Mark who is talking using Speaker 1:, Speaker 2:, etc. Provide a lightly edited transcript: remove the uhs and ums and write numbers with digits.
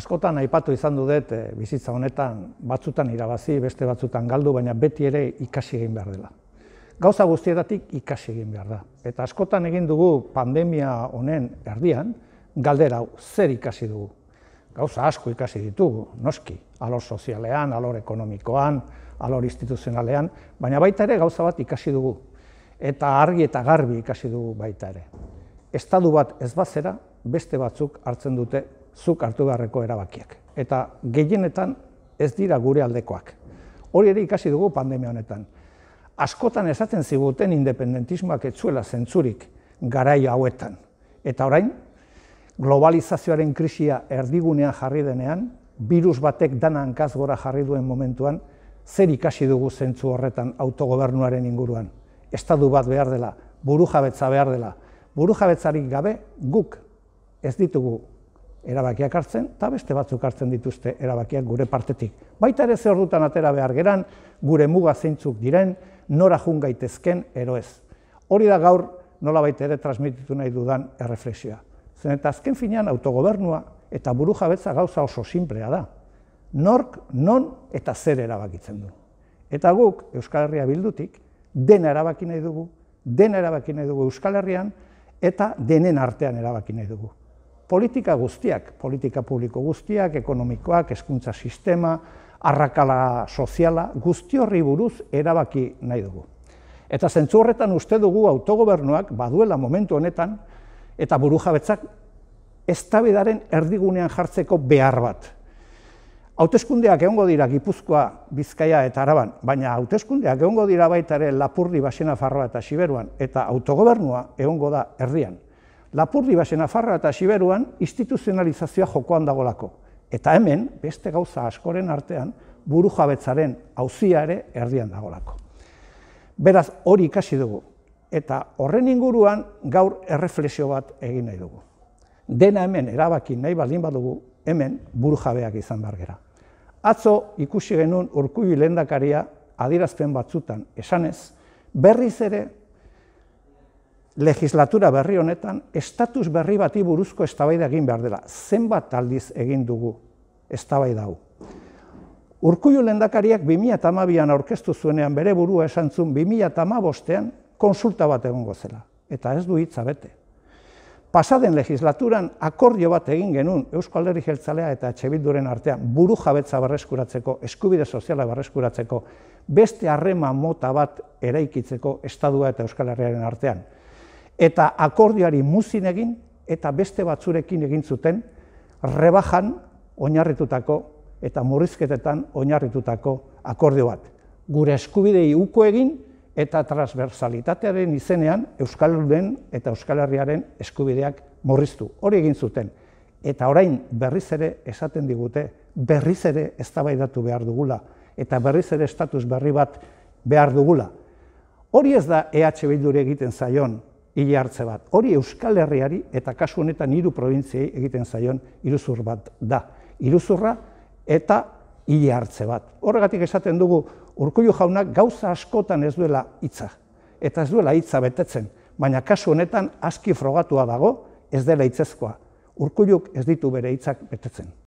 Speaker 1: Askotan aipatu izan dut bizitza honetan batzutan irabazi, beste batzutan galdu, baina beti ere ikasi egin behar dela. Gauza guztietatik ikasi egin behar da. Eta askotan egin dugu pandemia honen erdian, galdera hau, zer ikasi dugu? Gauza asko ikasi ditugu, noski, alor sozialean, alor ekonomikoan, alor instituzionalean, baina baita ere gauza bat ikasi dugu. Eta argi eta garbi ikasi dugu baita ere. Estatu bat ez bazera, beste batzuk hartzen dute zuk hartu beharreko erabakiak. Eta gehienetan ez dira gure aldekoak. Hori ere ikasi dugu pandemia honetan. Askotan esaten ziguten independentismoak ez zuela zentzurik garai hauetan. Eta orain, globalizazioaren krisia erdigunean jarri denean, birus batek dana hankaz gora jarri duen momentuan, zer ikasi dugu zentzu horretan autogobernuaren inguruan. Estatu bat behar dela, burujabetza behar dela. Burujabetzarik gabe guk ez ditugu erabakiak hartzen, eta beste batzuk hartzen dituzte erabakiak gure partetik. Baita ere ze ordutan atera behar geran, gure muga zeintzuk diren, nora jun gaitezken ero ez. Hori da gaur nolabait ere transmititu nahi dudan erreflexioa. Zen eta azken finean autogobernua eta burujabetza gauza oso sinplea da. Nork, non eta zer erabakitzen du. Eta guk Euskal Herria Bildutik dena erabaki nahi dugu, Euskal Herrian eta denen artean erabaki nahi dugu. Politika guztiak, politika publiko guztiak, ekonomikoak, hezkuntza sistema, arrakala soziala, guzti horri buruz erabaki nahi dugu. Eta zentzu horretan uste dugu autogobernuak baduela momentu honetan eta burujabetzak eztabaidaren erdigunean jartzeko behar bat. Hauteskundeak egongo dira Gipuzkoa, Bizkaia eta Araban, baina hauteskundeak egongo dira baita ere Lapurdi, Baxenafarroa eta Xiberuan, eta autogobernua egongo da erdian. Lapurdi, Baxenafarroa eta Xiberuan instituzionalizazioa jokoan dagolako. Eta hemen, beste gauza askoren artean, burujabetzaren auzia ere erdian dagolako. Beraz, hori ikasi dugu. Eta horren inguruan gaur erreflexio bat egin nahi dugu. Dena hemen erabaki nahi baldin badugu, hemen burujabeak izan behar gera. Atzo ikusi genuen Urkullu lehendakaria adierazpen batzutan esanez, berriz ere legislatura berri honetan estatus berri bati buruzko eztabaida egin behar dela. Zenbat aldiz egin dugu eztabaida hau. Urkullu lehendakariak 2012an aurkeztu zuenean bere burua esan zuen 2015ean konsulta bat egongo zela. Eta ez du hitza bete. Pasaden legislaturan akordio bat egin genuen Eusko Alderdi Jeltzalea eta EH Bilduren artean burujabetza berreskuratzeko, eskubide soziala berreskuratzeko, beste harreman mota bat eraikitzeko Estatua eta Euskal Herriaren artean. Eta akordioari muzin egin eta beste batzurekin egin zuten rebajan oinarritutako eta murrizketetan oinarritutako akordio bat. Gure eskubidei uko egin eta transversalitatearen izenean Euskaldunen eta Euskal Herriaren eskubideak murriztu. Hori egin zuten. Eta orain berriz ere esaten digute, berriz ere eztabaidatu behar dugula eta berriz ere estatus berri bat behar dugula. Hori ez da EH Bilduri egiten zaion hile hartze bat. Hori Euskal Herriari eta kasu honetan 3 probintziei egiten zaion iruzur bat da. Iruzurra eta hile hartze bat. Horregatik esaten dugu Urkullu jaunak gauza askotan ez duela hitza. Eta ez duela hitza betetzen. Baina kasu honetan aski frogatua dago ez dela hitzezkoa. Urkulluk ez ditu bere hitzak betetzen.